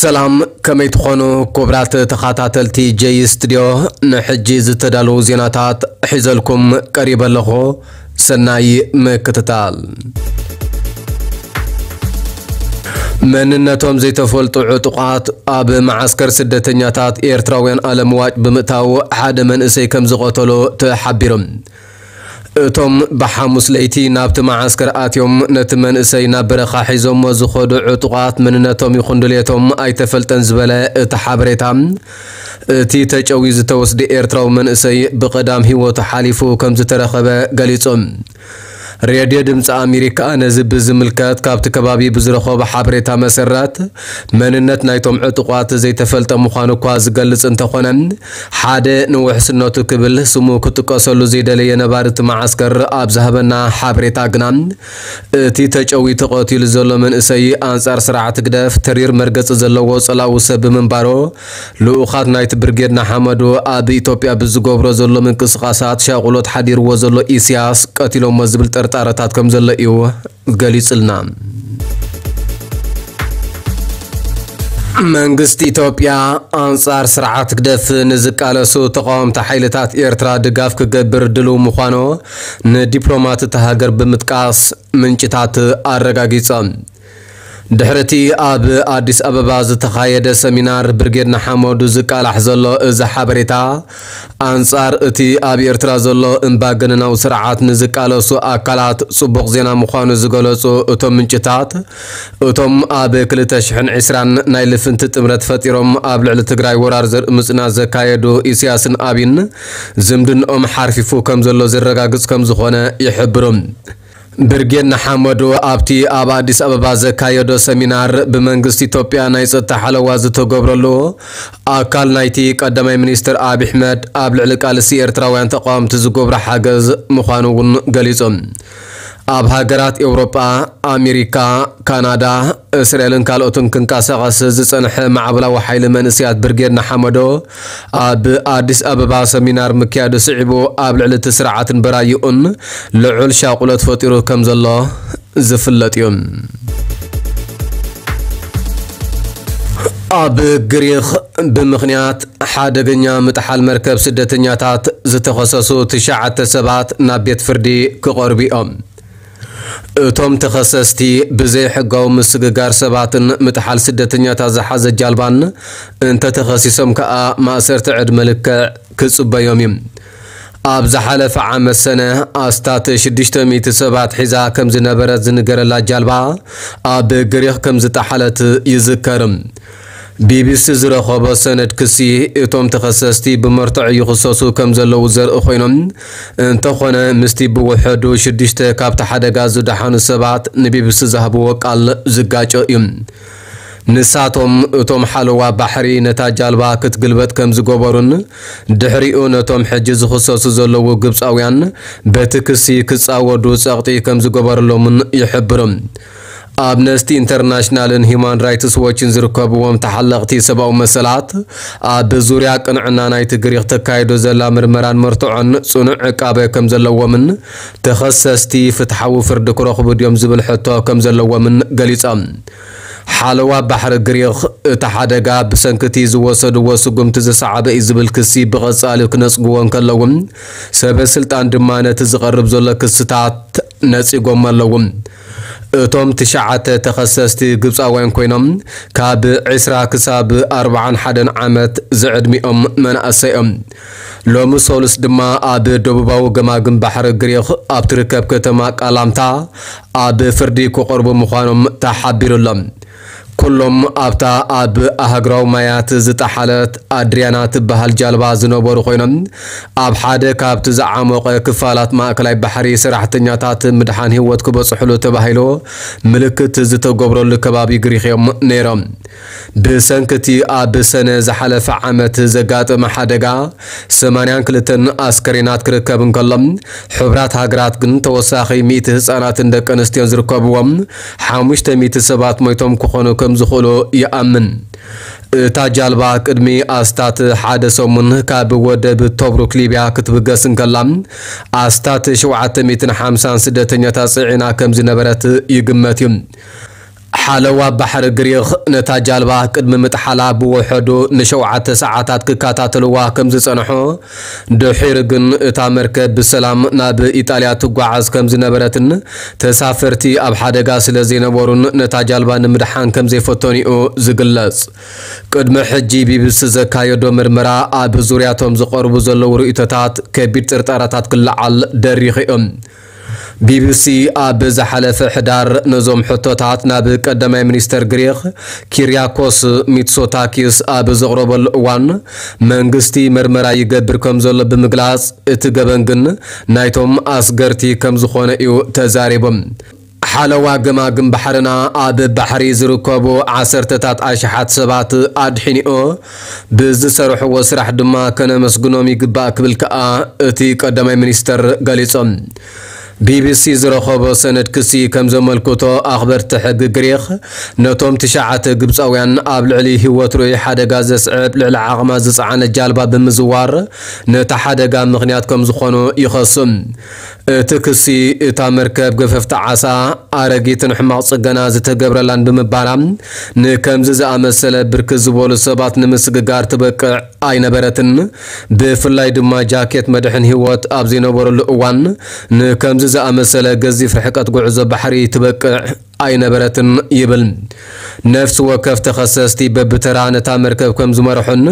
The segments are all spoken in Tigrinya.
ሰላም፣ ከመይ ትኾኑ ክቡራት ተኸታተልቲ ጀይ ስቱድዮ? ንሕጂ ዝተዳለዉ ዜናታት ሒዘልኩም ቀሪበ ኣለኹ። ሰናይ ምክትታል። መንነቶም ዘይተፈልጡ ዕጡቓት ኣብ መዓስከር ስደተኛታት ኤርትራውያን ኣለምዋጭ ብምእታው ሓደ መንእሰይ ከም ዝቐተሉ ተሓቢሩ። እቶም ብሓሙስ ለይቲ ናብቲ መዓስከር ኣትዮም ነቲ መንእሰይ ናብ በረኻ ሒዞሞ ዝኸዱ ዕጡቓት መንነቶም ይኹን ድሌቶም ኣይተፈልጠን ዝበለ እቲ ሓበሬታ፣ እቲ ተጨውዩ ዝተወስደ ኤርትራዊ መንእሰይ ብቐዳም ህይወቱ ሓሊፉ ከም ዝተረኸበ ገሊጹ። ሬድዮ ድምፂ ኣሜሪካ ነዚ ብዝምልከት ካብቲ ከባቢ ብዝረኸቦ ሓበሬታ መሰረት፣ መንነት ናይቶም ዕጡቋት ዘይተፈልጠ ምዃኑ እኳ ዝገልጽ እንተኾነ፣ ሓደ ንውሕስነቱ ክብል ስሙ ክጥቀሰሉ ዘይደለየ ነባሪ እቲ መዓስከር ኣብ ዝሃበና ሓበሬታ ግና፣ እቲ ተጨዊ ተቐቲሉ ዘሎ መንእሰይ ኣንጻር ስርዓት ህግደፍ ተሪር መርገጺ ዘለዎ ጸላዊ ሰብ ብምንባሩ፣ ልኡኻት ናይቲ ብርጌድ ንሓመዱ ኣብ ኢትዮጵያ ብዝገብሮ ዘሎ ምንቅስቓሳት ሻቑሎት ሓዲርዎ ዘሎ ኢሳያስ ቀቲሎሞ ዝብል ጥርጣረታት ከም ዘሎ እዩ ገሊጹልና። መንግስቲ ኢትዮጵያ ኣንጻር ስርዓት ህግደፍ ንዝቃለሱ ተቃወምቲ ሓይልታት ኤርትራ ድጋፍ ክገብር ድልው ምዃኑ ንዲፕሎማት እታ ሃገር ብምጥቃስ ምንጭታት ኣረጋጊጾም። ድሕሪ እቲ ኣብ ኣዲስ ኣበባ ዝተኻየደ ሰሚናር ብርጌድ ንሓመዱ ዝቃላሕ ዘሎ እዚ ሓበሬታ፣ ኣንጻር እቲ ኣብ ኤርትራ ዘሎ እምባገነናዊ ስርዓት ንዝቃለሱ ኣካላት ጽቡቕ ዜና ምዃኑ ዝገለጹ እቶም ምንጭታት፣ እቶም ኣብ ክልተ ሽሕን ዕስራን ናይ ልፍንቲ ጥምረት ፈጢሮም ኣብ ልዕሊ ትግራይ ወራር ዘርኢ ምጽናት ዘካየዱ ኢሳያስን ኣብይን ዝምድንኦም ሓርፊፉ ከም ዘሎ ዘረጋግጽ ከም ዝኾነ ይሕብሩ። ብርጌድ ንሓመዱ ኣብቲ ኣብ ኣዲስ ኣበባ ዘካየዶ ሰሚናር፣ ብመንግስቲ ኢትዮጵያ ናይ ጸጥታ ሓለዋ ዝተገብረሉ ኣካል ናይቲ ቀዳማይ ሚኒስትር ኣብይ ኣሕመድ ኣብ ልዕሊ ቃልሲ ኤርትራውያን ተቃወምቲ ዝገብሮ ሓገዝ ምዃኑ እውን ገሊጹ። ኣብ ሃገራት ኤውሮጳ፣ ኣሜሪካ፣ ካናዳ፣ እስራኤልን ካልኦትን ክንቀሳቐስ ዝጸንሐ ማዕበላዊ ሓይሊ መንእሰያት ብርጌድ ንሓመዶ ኣብ ኣዲስ ኣበባ ሰሚናር ምክያዱ ስዒቡ፣ ኣብ ልዕሊ እቲ ስርዓትን በራይኡን ልዑል ሻቑሎት ፈጢሩ ከም ዘሎ ዝፍለጥ እዩ። ኣብ ግሪኽ ብምኽንያት ሓደገኛ ምጥሓል መርከብ ስደተኛታት ዝተኸሰሱ ትሽዓተ ሰባት ናብ ቤት ፍርዲ ክቐርቡ እዮም። እቶም ተኸሰስቲ ብዘይሕጋዊ ምስግጋር ሰባትን ምጥሓል ስደተኛታት ዝሓዘ ጃልባን እንተተኸሲሶም ከኣ ማእሰርቲ ዕድመ ልክዕ ክጽበዮም እዩ። ኣብ ዝሓለፈ ዓመት ሰነ ኣስታት ሽዱሽተ ሚእቲ ሰባት ሒዛ ከም ዝነበረት ዝንገረላ ጃልባ ኣብ ግሪኽ ከም ዝጠሓለት ይዝከር። ቢቢሲ ዝረኸቦ ሰነድ ክሲ፣ እቶም ተኸሰስቲ ብመርትዖ ይኽሰሱ ከም ዘለዉ ዘርኢ ኮይኖም፣ እንተኾነ ምስቲ ብውሕዱ ሽዱሽተ ካብቲ ሓደጋ ዝደሓኑ ሰባት ንቢቢሲ ዝሃብዎ ቃል ዝጋጮ እዩ። ንሳቶም፣ እቶም ሓለዋ ባሕሪ ነታ ጃልባ ክትግልበጥ ከም ዝገበሩን ድሕሪኡ ነቶም ሕጂ ዝኽሰሱ ዘለዉ ግብጻውያን በቲ ክሲ ክጻወዱ ጸቕጢ ከም ዝገበረሎምን ይሕብሩ። ኣምነስቲ ኢንተርናሽናልን ሂዩማን ራይትስ ዎችን ዝርከብዎም ተሓለቕቲ ሰብኣዊ መሰላት፣ ኣብ ዙርያ ቅንዕና ናይቲ ግሪኽ ተካይዶ ዘላ ምርመራን መርትዖን ጽኑዕ ዕቃበ ከም ዘለዎምን ተኸሰስቲ ፍትሓዊ ፍርዲ ክረኽቡ ድዮም ዝብል ሕቶ ከም ዘለዎምን ገሊጾም። ሓለዋ ባሕሪ ግሪኽ፣ እቲ ሓደጋ ብሰንኪ እቲ ዝወሰድዎ ስጉምቲ ዝሰዓበ እዩ ዝብል ክሲ ብቐጻሊ ክነጽግዎ እንከለዉ፣ ሰበ ስልጣን ድማ ነቲ ዝቐርብ ዘሎ ክስታት ነጺጎም ኣለዉ። እቶም ትሽዓተ ተኸሰስቲ ግብጻውያን ኮይኖም፣ ካብ ዕስራ ክሳብ ኣርብዓን ሓደን ዓመት ዝዕድሚኦም መናእሰይ እዮም። ሎሚ ሰሉስ ድማ ኣብ ደቡባዊ ገማግም ባሕሪ ግሪኽ ኣብ ትርከብ ከተማ ቃላምታ ኣብ ፍርዲ ክቐርቡ ምዃኖም ተሓቢሩ ኣሎ። ኩሎም ኣብታ ኣብ ኣህግራዊ ማያት ዝጠሓለት ኣድሪያና ትበሃል ጃልባ ዝነበሩ ኮይኖም፣ ኣብ ሓደ ካብቲ ዝዓሞቐ ክፋላት ማእከላይ ባሕሪ ሰራሕተኛታት ምድሓን ህይወት ክበጽሕሉ ተባሂሉ ምልክት ዝተገብረሉ ከባቢ ግሪኽ እዮም ነይሮም። ብሰንኪ እቲ ኣብ ሰነ ዝሓለፈ ዓመት ዘጋጠመ ሓደጋ፣ ሰማንያን ክልተን ኣስከሬናት ክርከብ እንከሎ፣ ሕቡራት ሃገራት ግን ተወሳኺ ሚእቲ ህጻናትን ደቂ ኣንስትዮን ዝርከብዎም ሓሙሽተ ሚእቲ ሰባት ሞይቶም ክኾኑ ከም ዝኽእሉ ይኣምን። እታ ጃልባ ቅድሚ ኣስታት ሓደ ሰሙን ካብ ወደብ ቶብሩክ ሊብያ ክትብገስ እንከላ፣ ኣስታት ሸውዓተ ሚእትን ሓምሳን ስደተኛታት ጽዒና ከም ዝነበረት ይግመት እዩ። ሓለዋ ባሕሪ ግሪኽ ነታ ጃልባ ቅድሚ ምጥሓላ ብውሕዱ ንሸውዓተ ሰዓታት ክከታተልዋ ከም ዝጸንሑ፣ ድሒሩ ግን እታ መርከብ ብሰላም ናብ ኢጣልያ ትጓዓዝ ከም ዝነበረትን ተሳፈርቲ ኣብ ሓደጋ ስለ ዘይነበሩን ነታ ጃልባ ንምድሓን ከም ዘይፈተኑ'ዩ ዝግለጽ። ቅድሚ ሕጂ ቢቢሲ ዘካየዶ ምርመራ ኣብ ዙርያቶም ዝቐርቡ ዘለዉ ርእይቶታት ከቢድ ጥርጣረታት ክለዓል ደሪኹ እዩ። ቢቢሲ ኣብ ዝሓለፈ ሕዳር ነዞም ሕቶታት ናብ ቀዳማይ ሚኒስተር ግሪኽ ኪርያኮስ ሚትሶታኪስ ኣብ ዘቕረበሉ እዋን፣ መንግስቲ መርመራ ይገብር ከም ዘሎ ብምግላጽ፣ እቲ ገበን ግን ናይቶም ኣስገርቲ ከም ዝኾነ እዩ ተዛሪቡ። ሓለዋ ገማግም ባሕርና ኣብ ባሕሪ ዝርከቡ ዓሰርተታት ኣሽሓት ሰባት ኣድሒንኦ ብዝሰርሕዎ ስራሕ ድማ ከነመስግኖም ይግባእ ክብል ከኣ እቲ ቀዳማይ ሚኒስተር ገሊጾም። ቢቢሲ ዝረኸቦ ሰነድ ክሲ ከም ዘመልክቶ፣ ኣኽበርቲ ሕጊ ግሪኽ ነቶም ትሽዓተ ግብጻውያን ኣብ ልዕሊ ህይወት ርኡይ ሓደጋ ዘስዕብ ልዕሊ ዓቕማ ዝጸዓነት ጃልባ ብምዝዋር ነቲ ሓደጋ ምኽንያት ከም ዝኾኑ ይኸሱ። እቲ ክሲ፣ እታ መርከብ ገፈፍቲ ዓሳ ኣረጊትን ሕማቕ ጽገና ዝተገብረላን ብምባላ፣ ንከምዚ ዝኣመሰለ ብርክት ዝበሉ ሰባት ንምስግጋር ትበቅዕ ኣይነበረትን። ብፍላይ ድማ ጃኬት መድሕን ህይወት ኣብ ዘይነበረሉ እዋን፣ ንከምዚ ዝኣመሰለ ገዚፍ ርሕቀት ጉዕዞ ባሕሪ ትበቅዕ ኣይነበረትን ይብል። ነፍሲ ወከፍ ተኸሰስቲ በብተራ ነታ መርከብ ከም ዝመርሑን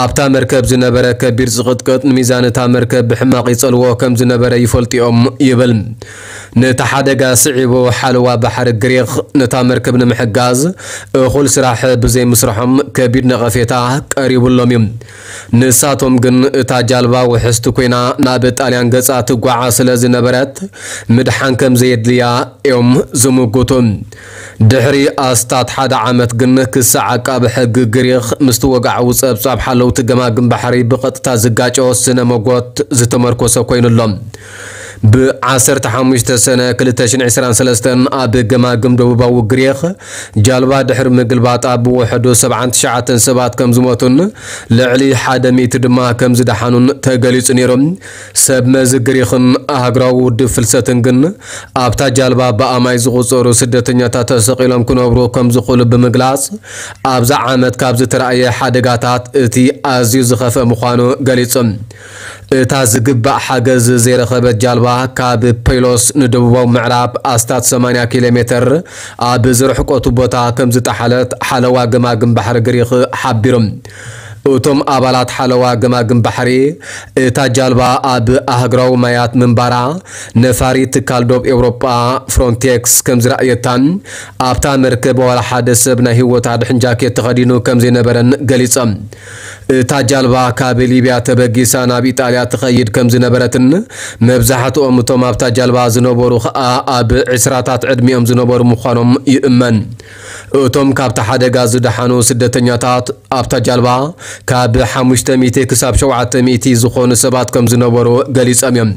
ኣብታ መርከብ ዝነበረ ከቢድ ዝቕጥቅጥ ንሚዛን እታ መርከብ ብሕማቕ ይጸልዎ ከም ዝነበረ ይፈልጡ እዮም ይብል። ነቲ ሓደጋ ስዒቡ ሓለዋ ባሕሪ ግሪኽ ነታ መርከብ ንምሕጋዝ እኹል ስራሕ ብዘይምስርሖም ከቢድ ነቐፌታ ቀሪቡሎም እዩ። ንሳቶም ግን እታ ጃልባ ውሕስቲ ኮይና ናብ ጣልያን ገጻ ትጓዓዝ ስለ ዝነበረት ምድሓን ከም ዘየድልያ እዮም ዝምጉቱ። ድሕሪ ኣስታት ሓደ ዓመት ግን ክሲ ዓቃቢ ሕጊ ግሪኽ ምስቲ ወግዓዊ ጸብጻብ ሓለውቲ ገማግም ባሕሪ ብቐጥታ ዝጋጨወ ስነ መጎት ዝተመርኮሰ ኮይኑ ኣሎ። ብ ዓሰርተ ሓሙሽተ ሰነ ክልተ ሽሕን ዕስራን ሰለስተን ኣብ ገማግም ደቡባዊ ግሪኽ ጃልባ ድሕሪ ምግልባጣ ብውሕዱ ሰብዓን ትሽዓተን ሰባት ከም ዝሞቱን ልዕሊ ሓደ ሚእቲ ድማ ከም ዝደሓኑን ተገሊጹ ነይሩ። ሰብ መዚ ግሪኽን ኣህግራዊ ውድብ ፍልሰትን ግን ኣብታ ጃልባ ብኣማይ ዝቑጸሩ ስደተኛታት ተሰቒሎም ክነብሩ ከም ዝኽእሉ ብምግላጽ፣ ኣብዛ ዓመት ካብ ዝተራእየ ሓደጋታት እቲ ኣዝዩ ዝኸፍአ ምዃኑ ገሊጹ። እታ ዝግባእ ሓገዝ ዘይረኸበት ጃልባ ካብ ፔሎስ ንደቡባዊ ምዕራብ ኣስታት ሰማንያ ኪሎ ሜተር ኣብ ዝርሕቀቱ ቦታ ከም ዝጠሓለት ሓለዋ ገማግም ባሕሪ ግሪኽ ሓቢሩ። እቶም ኣባላት ሓለዋ ገማግም ባሕሪ፣ እታ ጃልባ ኣብ ኣህግራዊ ማያት ምንባራ፣ ነፋሪት ትካል ዶብ ኤውሮጳ ፍሮንቴክስ ከም ዝረኣየታን ኣብታ መርከብ ዋላ ሓደ ሰብ ናይ ህይወት ኣድሕን ጃኬት ተኸዲኑ ከም ዘይነበረን ገሊጾም። እታ ጃልባ ካብ ሊብያ ተበጊሳ ናብ ኢጣልያ ትኸይድ ከም ዝነበረትን መብዛሕትኦም እቶም ኣብታ ጃልባ ዝነበሩ ኸኣ ኣብ ዕስራታት ዕድሚኦም ዝነበሩ ምዃኖም ይእመን። እቶም ካብቲ ሓደጋ ዝደሓኑ ስደተኛታት ኣብታ ጃልባ ካብ ሓሙሽተ ሚእቲ ክሳብ ሸውዓተ ሚእቲ ዝኾኑ ሰባት ከም ዝነበሩ ገሊጾም እዮም።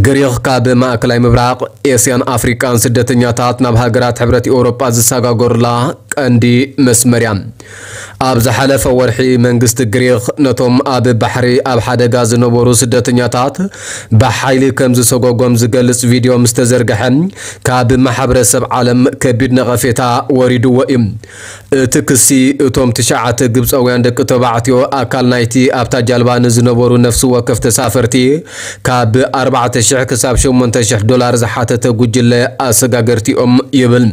ግሪኽ ካብ ማእከላይ ምብራቕ፣ ኤስያን ኣፍሪቃን ስደተኛታት ናብ ሃገራት ሕብረት ኤውሮጳ ዝሰጋገሩላ ቀንዲ መስመር እያ። ኣብ ዝሓለፈ ወርሒ መንግስቲ ግሪኽ ነቶም ኣብ ባሕሪ ኣብ ሓደጋ ዝነበሩ ስደተኛታት ብሓይሊ ከም ዝሰጎጎም ዝገልጽ ቪድዮ ምስ ተዘርግሐ፣ ካብ ማሕበረሰብ ዓለም ከቢድ ነቐፌታ ወሪድዎ እዩ። እቲ ክሲ፣ እቶም ትሽዓተ ግብጻውያን ደቂ ተባዕትዮ ኣካል ናይቲ ኣብታ ጃልባ ንዝነበሩ ነፍሲ ወከፍ ተሳፈርቲ ካብ ኣርባዕተ ሽሕ ክሳብ ሸሞንተ ሽሕ ዶላር ዝሓተተ ጉጅለ ኣሰጋገርቲ እዮም ይብል።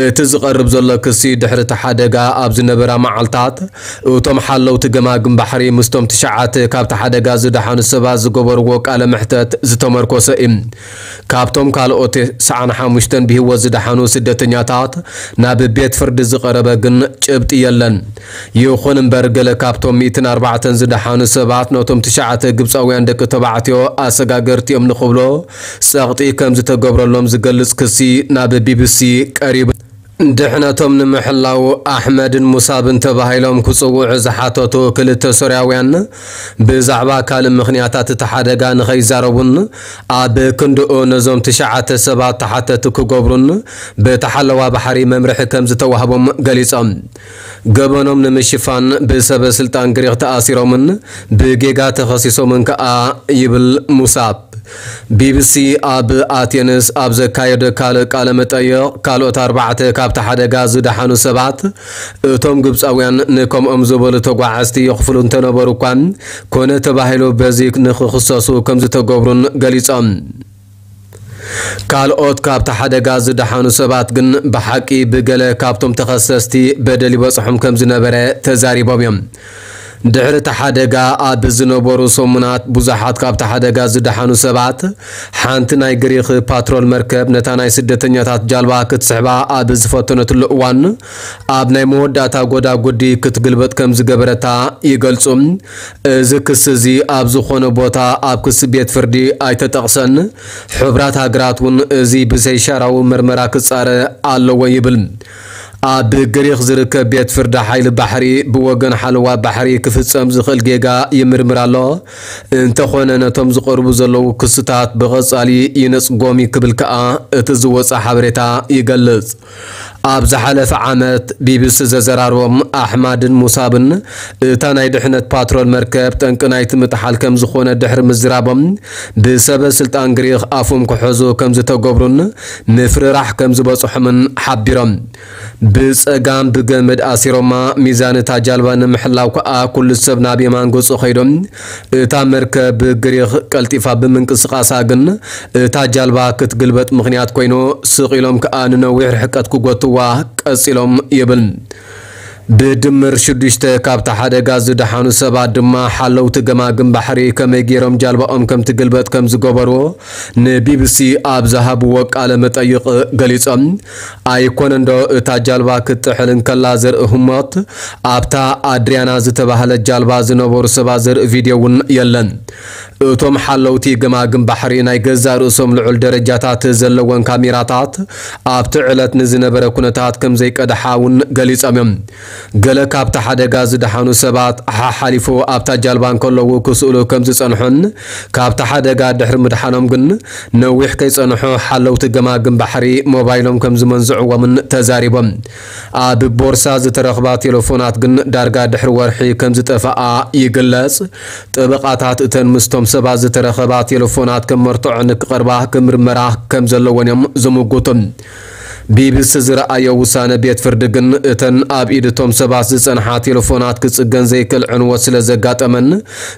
እቲ ዝቐርብ ዘሎ ክሲ ድሕሪ እቲ ሓደጋ ኣብ ዝነበራ መዓልታት እቶም ሓለውቲ ገማግም ባሕሪ ምስቶም ትሽዓተ ካብቲ ሓደጋ ዝደሓኑ ሰባት ዝገበርዎ ቃለ መሕተት ዝተመርኮሰ እዩ። ካብቶም ካልኦት ተስዓን ሓሙሽተን ብህይወት ዝደሓኑ ስደተኛታት ናብ ቤት ፍርዲ ዝቐረበ ግን ጭብጢ የለን። ይኹን እምበር፣ ገለ ካብቶም ሚእትን ኣርባዕተን ዝደሓኑ ሰባት ነቶም ትሽዓተ ግብጻውያን ደቂ ተባዕትዮ ኣሰጋገርቲ እዮም ንኽብሎ ጸቕጢ ከም ዝተገብረሎም ዝገልጽ ክሲ ናብ ቢቢሲ ቀሪቡ። ድሕነቶም ንምሕላው ኣሕመድን ሙሳብን ተባሂሎም ክጽውዑ ዝሓተቱ ክልተ ሶርያውያን፣ ብዛዕባ ካልእ ምኽንያታት እቲ ሓደጋ ንኸይዛረቡን ኣብ ክንድኡ ነዞም ትሽዓተ ሰባት ተሓተቲ ክገብሩን በቲ ሓለዋ ባሕሪ መምርሒ ከም ዝተዋህቦም ገሊጾም። ገበኖም ንምሽፋን ብሰበ ስልጣን ግሪኽ ተኣሲሮምን ብጌጋ ተኸሲሶምን ከኣ ይብል ሙሳብ። ቢቢሲ ኣብ ኣቴንስ ኣብ ዘካየደ ካልእ ቃለ መጠይቕ፣ ካልኦት ኣርባዕተ ካብቲ ሓደጋ ዝደሓኑ ሰባት፣ እቶም ግብጻውያን ንከምኦም ዝበሉ ተጓዓዝቲ የኽፍሉ እንተነበሩ እኳ፣ ኮነ ተባሂሉ በዚ ንኽኽሰሱ ከም ዝተገብሩን ገሊጾም። ካልኦት ካብቲ ሓደጋ ዝደሓኑ ሰባት ግን ብሓቂ ብገለ ካብቶም ተኸሰስቲ በደል ይበጽሖም ከም ዝነበረ ተዛሪቦም እዮም። ድሕሪ እቲ ሓደጋ ኣብ ዝነበሩ ሰሙናት ብዙሓት ካብቲ ሓደጋ ዝደሓኑ ሰባት፣ ሓንቲ ናይ ግሪኽ ፓትሮል መርከብ ነታ ናይ ስደተኛታት ጃልባ ክትስሕባ ኣብ ዝፈተነትሉ እዋን፣ ኣብ ናይ መወዳእታ ጎዳጉዲ ክትግልበጥ ከም ዝገበረታ ይገልጹ። እዚ ክሲ እዚ ኣብ ዝኾነ ቦታ ኣብ ክሲ ቤት ፍርዲ ኣይተጠቕሰን። ሕቡራት ሃገራት እውን እዚ ብዘይሻራዊ መርመራ ክጻረ ኣለዎ ይብል። ኣብ ግሪኽ ዝርከብ ቤት ፍርዲ ሓይሊ ባሕሪ ብወገን ሓለዋ ባሕሪ ክፍጸም ዝኽእል ጌጋ ይምርምር ኣሎ። እንተኾነ ነቶም ዝቐርቡ ዘለዉ ክስታት ብቐጻሊ ይነጽጎም እዩ ክብል ከኣ እቲ ዝወጸ ሓበሬታ ይገልጽ። ኣብ ዝሓለፈ ዓመት ቢቢሲ ዘዘራርቦም ኣሕማድን ሙሳብን፣ እታ ናይ ድሕነት ፓትሮል መርከብ ጠንቂ ናይቲ ምጥሓል ከም ዝኾነ ድሕሪ ምዝራቦም፣ ብሰበ ስልጣን ግሪኽ ኣፎም ክሕዙ ከም ዝተገብሩን ምፍርራሕ ከም ዝበጽሖምን ሓቢሮም። ብጸጋም ብገመድ ኣሲሮማ፣ ሚዛን እታ ጃልባ ንምሕላው ከኣ ኩሉ ሰብ ናብ የማን ገጹ ከይዶም፣ እታ መርከብ ብግሪኽ ቀልጢፋ ብምንቅስቓሳ ግን እታ ጃልባ ክትግልበጥ ምኽንያት ኮይኑ፣ ስቕ ኢሎም ከኣ ንነዊሕ ርሕቀት ክጎትዋ ቀጺሎም ይብል። ብድምር ሽዱሽተ ካብቲ ሓደጋ ዝደሓኑ ሰባት ድማ ሓለውቲ ገማግም ባሕሪ ከመይ ገይሮም ጃልባኦም ከም ትግልበጥ ከም ዝገበሩ ንቢቢሲ ኣብ ዝሃብዎ ቃለ መጠይቕ ገሊጾም። ኣይኮነንዶ እታ ጃልባ ክትጥሕል እንከላ ዘርኢ ህሞት፣ ኣብታ ኣድሪያና ዝተባህለት ጃልባ ዝነበሩ ሰባት ዘርኢ ቪድዮ እውን የለን። እቶም ሓለውቲ ገማግም ባሕሪ ናይ ገዛእ ርእሶም ልዑል ደረጃታት ዘለወን ካሜራታት ኣብቲ ዕለት ንዝነበረ ኩነታት ከም ዘይቀድሓ እውን ገሊጾም እዮም። ገለ ካብቲ ሓደጋ ዝደሓኑ ሰባት ሓሓሊፉ ኣብታ ጃልባ እንከለዉ ክስእሉ ከም ዝጸንሑን ካብቲ ሓደጋ ድሕሪ ምድሓኖም ግን ነዊሕ ከይጸንሑ ሓለውቲ ገማግም ባሕሪ ሞባይሎም ከም ዝመንዝዕዎምን ተዛሪቦም። ኣብ ቦርሳ ዝተረኽባ ቴሌፎናት ግን ዳርጋ ድሕሪ ወርሒ ከም ዝጠፍኣ ይግለጽ። ጠበቓታት እተን ምስቶም ሰባት ዝተረኸባ ቴሌፎናት ከም መርትዖ ንክቐርባ ክምርመራ ከም ዘለወን እዮም ዝምጉቱ። ቢቢሲ ዝረኣዮ ውሳነ ቤት ፍርዲ ግን እተን ኣብ ኢድ እቶም ሰባት ዝጸንሓ ቴሌፎናት ክጽገን ዘይክእል ዕንወት ስለ ዘጋጠመን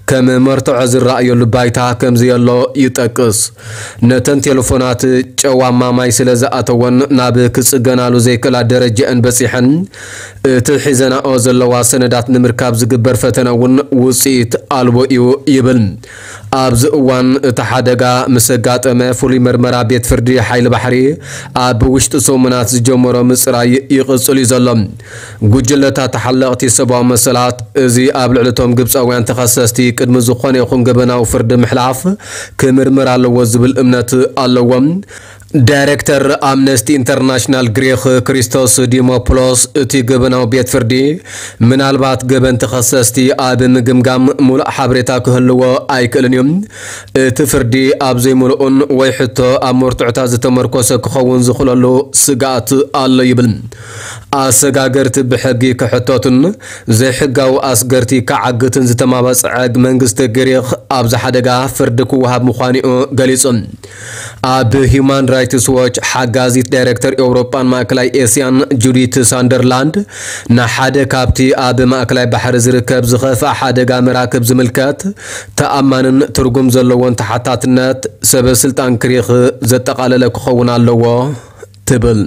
ከም መርትዖ ዝረኣየሉ ባይታ ከም ዘየሎ ይጠቅስ። ነተን ቴሌፎናት ጨዋማ ማይ ስለ ዝኣተወን ናብ ክጽገናሉ ዘይክእላ ደረጃአን በጺሐን፣ እቲ ሒዘናኦ ዘለዋ ሰነዳት ንምርካብ ዝግበር ፈተነ እውን ውጽኢት ኣልቦ እዩ ይብል። ኣብዚ እዋን እቲ ሓደጋ ምስ ኣጋጠመ ፍሉይ መርመራ ቤት ፍርዲ ሓይሊ ባሕሪ ኣብ ውሽጢ ሰሙናት ዝጀመሮ ምጽራይ ይቕጽል እዩ ዘሎ። ጉጅለታት ተሓለቕቲ ሰብኣዊ መሰላት እዚ ኣብ ልዕሊ እቶም ግብጻውያን ተኸሰስቲ ቅድሚ ዝኾነ ይኹን ገበናዊ ፍርዲ ምሕላፍ ክምርምር ኣለዎ ዝብል እምነት ኣለዎም። ዳይሬክተር ኣምነስቲ ኢንተርናሽናል ግሪኽ ክሪስቶስ ዲሞፖሎስ እቲ ገበናዊ ቤት ፍርዲ ምናልባት ገበን ተኸሰስቲ ኣብ ምግምጋም ሙሉእ ሓበሬታ ክህልዎ ኣይክእልን እዩ። እቲ ፍርዲ ኣብ ዘይምሉኡን ወይ ሕቶ ኣብ መርትዖታት ዝተመርኮሰ ክኸውን ዝኽእለሉ ስግኣት ኣሎ ይብል። ኣሰጋገርቲ ብሕጊ ክሕተቱን ዘይሕጋዊ ኣስገርቲ ክዓግትን ዝተማበፀዐ መንግስቲ ግሪኽ ኣብዚ ሓደጋ ፍርዲ ክወሃብ ምዃኑ'ዩ ገሊጹ። ኣብ ሂዩማን ራይትስ ዎች ሓጋዚት ዳይሬክተር ኤውሮጳን ማእከላይ ኤስያን ጁዲት ሳንደርላንድ ንሓደ ካብቲ ኣብ ማእከላይ ባሕሪ ዝርከብ ዝኸፍኣ ሓደጋ መራክብ ዝምልከት ተኣማንን ትርጉም ዘለዎን ተሓታትነት ሰበ ስልጣን ግሪኽ ዘጠቓለለ ክኸውን ኣለዎ ትብል።